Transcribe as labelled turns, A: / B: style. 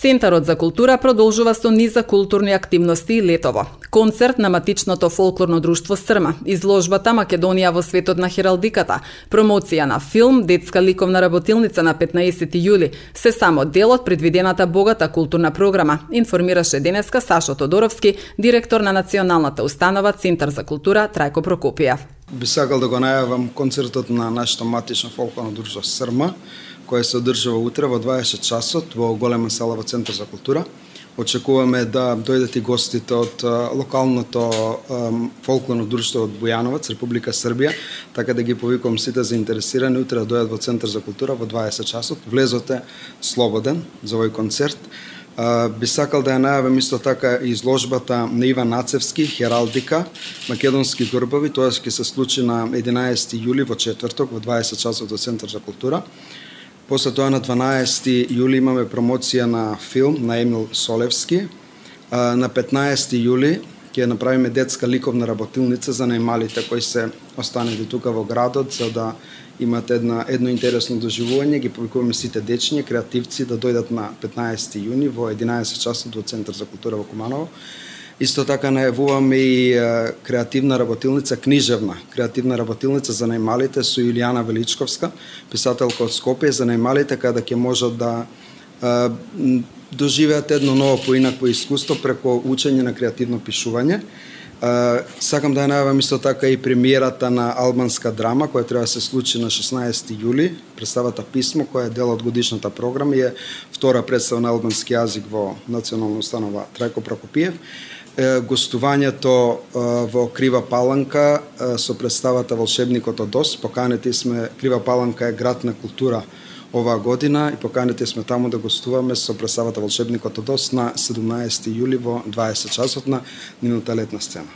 A: Центарот за култура продолжува со низ за културни активности и летово. Концерт на матичното фолклорно друштво Срма, изложбата Македонија во светот на хералдиката, промоција на филм, детска ликовна работилница на 15 јули, се само дел од предвидената богата културна програма, информираше денеска Сашо Тодоровски, директор на Националната установа Центар за култура Трајко Прокопиев.
B: Би сакал да го најавам концертот на нашето матично фолклорно друштво Срма, кој се одржува утре во 20 часот во голема сала во Центар за култура. Очекуваме да дојдат и гостите од локалното фолклорно друштво од Бујановац, Република Србија, така да ги повикувам сите заинтересирани утре да дојдат во Центар за култура во 20 часот. Влезот е слободен за овој концерт. Би сакал да ја најавам исто така изложбата на Иван Нацевски, Хералдика, македонски грбови, тоа ќе се случи на 11 јули во четврток во 20 часот во Центар за култура. После тоа на 12 јули имаме промоција на филм на Емил Солевски. На 15 јули ќе направиме детска ликовна работилница за најмалите кои се останали тука во градот, за да имат едно интересно доживување. Ги повикуваме сите дечиња, креативци да дојдат на 15 јуни во 11 часот во Центар за култура во Куманово. Исто така најавуваме и креативна работилница, книжевна креативна работилница за најмалите со Јулијана Величковска, писателка од Скопје, за најмалите каде ќе можат да доживеат едно ново поинакво искуство преку учење на креативно пишување. Сакам да ја најавам исто така и премиерата на албанска драма, која треба да се случи на 16 јули, представата Писмо, која е дел од годишната програма и е втора представа на албански јазик во Национална установа Трајко Прокопиев. Гостувањето во Крива Паланка со представата Волшебникот од Оз. Поканети сме, Крива Паланка е град на култура оваа година и поканети сме таму да гостуваме со представата Волшебникот од Оз на 17 јули во 20 часот на нивната летна сцена.